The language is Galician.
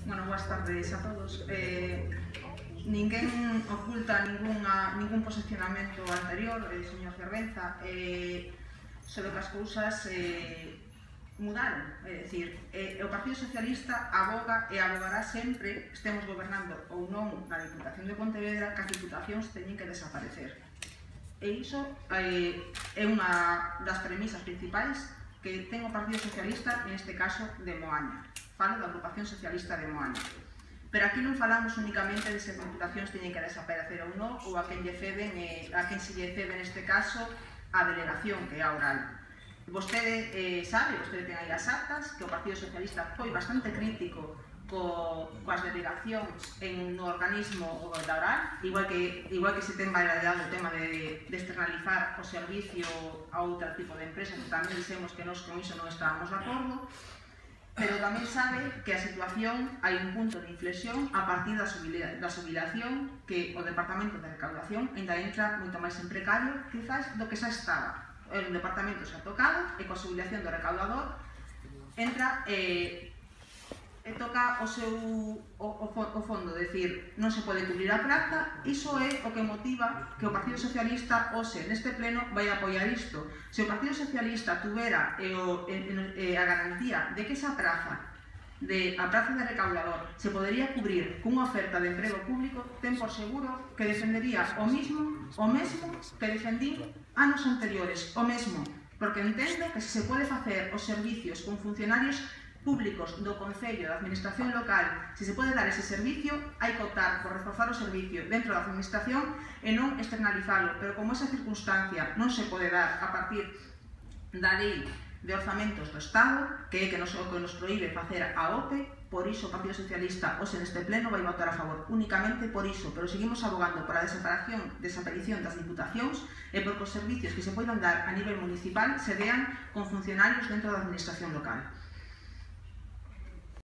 Bueno, boas tardes a todos. Ninguén oculta ningún posicionamento anterior, señor Fervenza, sobre que as cousas mudaron. É dicir, o Partido Socialista aboga e abogará sempre, estemos gobernando ou non na Diputación de Pontevedra, que as diputacións teñen que desaparecer. E iso é unha das premisas principais que ten o Partido Socialista, neste caso de Moaña. Falo da Agrupación Socialista de Moaña. Pero aquí non falamos únicamente de se as diputacións teñen que desaparecer ou non, ou a quen se lle cede neste caso a delegación, que é a oral. Vostede sabe, vostede ten aí as actas, que o Partido Socialista foi bastante crítico coas delegacións no organismo da oral, igual que se ten validado o tema de externalizar o servicio a outro tipo de empresas, que tamén dixemos que nós con iso non estábamos de acordo. Pero tamén sabe que a situación hai un punto de inflexión a partir da xubilación, que o Departamento de Recaudación ainda entra moito máis en precario, quizás do que xa estaba. O Departamento xa tocado e coa xubilación do recaudador entra e toca o fondo, é dicir, non se pode cubrir a praza. Iso é o que motiva que o Partido Socialista hoxe neste pleno vai apoiar isto. Se o Partido Socialista tuvera a garantía de que esa praza, a praza de recaudador, se podería cubrir cunha oferta de emprego público, ten por seguro que defendería o mesmo que defendín anos anteriores, o mesmo, porque entendo que se pode facer os servicios con funcionarios públicos do Concello, da Administración local, se se pode dar ese servicio, hai que optar por reforzar o servicio dentro da Administración e non externalizarlo, pero como esa circunstancia non se pode dar a partir da lei de orzamentos do Estado, que é que nos proíbe facer a OPE, por iso o Partido Socialista hoxe neste pleno vai votar a favor, únicamente por iso, pero seguimos abogando por a desaparición das diputacións e por que os servicios que se poidan dar a nivel municipal se dean con funcionarios dentro da Administración local.